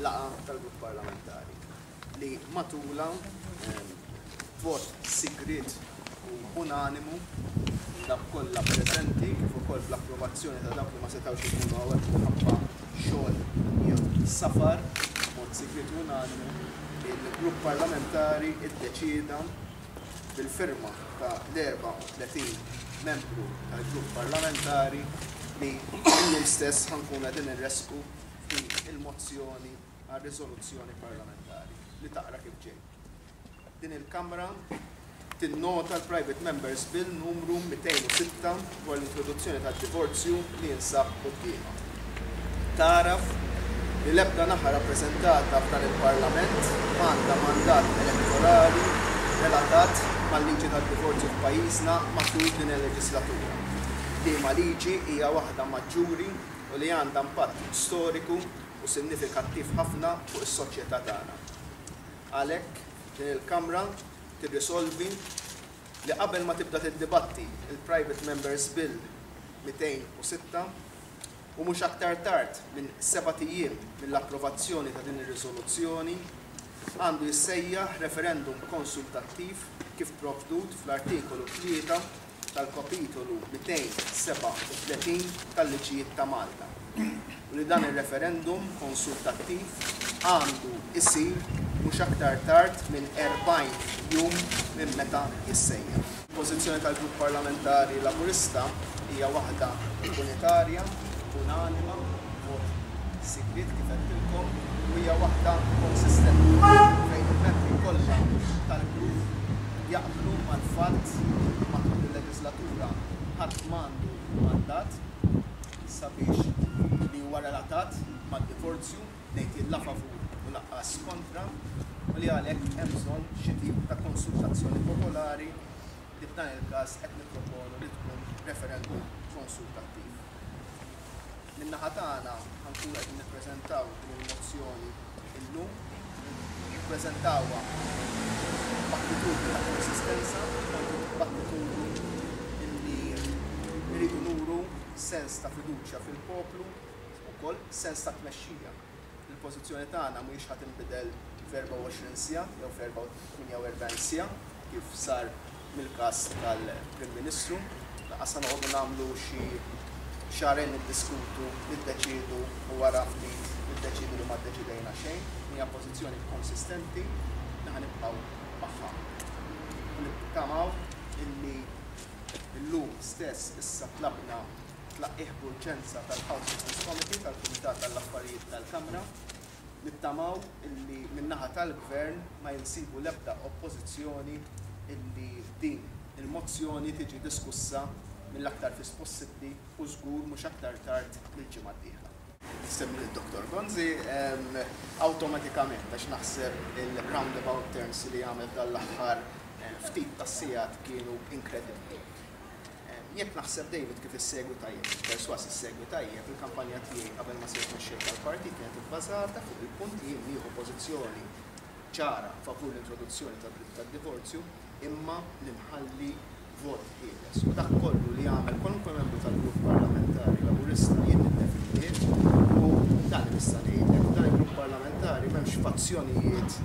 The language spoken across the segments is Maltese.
laqgħa tal-Grupp Parlamentari li matulha b'vot sigriet u unanimu minn dawk kollha preżenti kif ukoll bl-approvazzjoni ta' dawk li ma setgħux ikunu hawnhekk minħabba xogħol jew safar, b'mod sigriet u unanimu, il-Grupp Parlamentari ddeċieda bil-firma ta' l-34 membru tal-Grupp Parlamentari li illum stess ħa nkunu qegħdin inressqu din il-mozzjoni għal riżoluzzjoni parlamentari li taqra kif ġej. Din il-Kamra tinnota l-Private Members Bill numru 206 dwar l-introduzzjoni tad-divorzju li jinsab quddiemha. Tagħraf li l-ebda naħa rappreżentata f'dan il-Parlament m'għandha mandat elettorali relatat mal-liġi tad-divorzju f'pajjiżna matul din il-leġislatura, liema liġi hija waħda maġġuri u li għandha impatt storiku u sinnifikattiv ħafna fuq is-soċjetà tagħna. Għalhekk, din il-Kamra tirrisolvi li qabel ma tibda tiddibatti l-Private Members Bill 206, u mhux aktar tard minn sebat ijiem mill-approvazzjoni ta' din ir-riżoluzzjoni, għandu jissejjaħ referendum konsultattiv kif provdut fl-Artikolu 3 tal-Kapitolu 237 tal-Liġijiet ta' Malta u li dan ir-referendum konsultattiv għandu jsir mhux aktar tard minn 40 jum minn meta jissejjaħ. Il-pożizzjoni tal-Grupp Parlamentari Laburista hija waħda unitarja, unanima, b'vot sigriet kif għedtilkom, u hija waħda konsistenti fejn il-membri kollha tal-grupp jaqblu mal-fatt li matul il-leġislatura ħadd m'għandu mandat sabiex li huwa relatat mad-divorzju, ngħid jien la favur u lanqas kontra, u li għalhekk hemm bżonn xi tip ta' konsultazzjoni popolari li f'dan il-każ qed nipproponu li tkun referendum konsultattiv. Min-naħa tagħna ħa nkunu qegħdin nippreżentaw din il-mozzjoni illum, nippreżentawha b'attitudni ta' konsistenza, b'attitudni illi rridu nuru sens ta' fiduċja fil-poplu, ukoll sens ta' tmexxija. Il-pożizzjoni tagħna mhijiex ħa tinbidel f'24 siegħa jew f'48 siegħa kif sar mill-każ tal-Prim Ministru. Lanqas ħa noqogħdu nagħmlu xi xahrejn niddiskutu, niddeċiedu u wara ftit niddeċiedu li ma ddeċidejna xejn. Hija pożizzjoni konsistenti li ħa nibqgħu magħha. U nittamaw illi llum stess issa tlabna tlaqqigħ b'urġenza tal-House Business Committee, tal-Kumitat għall-Affarijiet tal-Kamra. Nittamaw illi min-naħa tal-Gvern ma jinsibu l-ebda oppożizzjoni illi din il-mozzjoni tiġi diskussa mill-aktar fis possibbli u żgur mhux aktar tard mill-ġimgħa d-dieħla. Semmi lil Dottor Gonzi awtomatikament għax naħseb il-roundabout turns li għamel f'dan l-aħħar ftit tas-sigħat kienu inkredibbli. Jekk naħseb David kif issegwi tajjeb, persważ issegwi tajjeb, il-kampanja tiegħi qabel ma sirt mexxej tal-partit kienet ibbażata fuq il-punt li jien nieħu pożizzjoni ċara favur l-introduzzjoni tad-dritt tad-divorzju imma li nħalli vot ħieles. U dak kollu li jagħmel kwalunkwe membru tal-grupp parlamentari Laburista jien niddefendih u dan li nista' ngħidlek, f'dan il-grupp parlamentari m'hemmx fazzjonijiet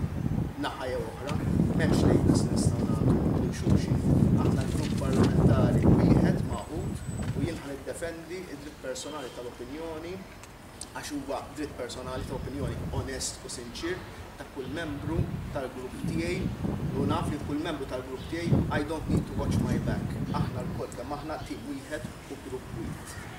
naħa jew oħra, m'hemmx labels li nistgħu nagħtu lil xulxin. Aħna grupp parlamentari wieħed magħqud u jien ħa niddefendi d-dritt personali tal-opinjoni għax huwa dritt personali ta' opinjoni onest u sinċier ta' kull membru tal-grupp tiegħi u naf li kull membru tal-grupp tiegħi I don't need to watch my back. Aħna lkoll kemm aħna tim wieħed u grupp wieħed.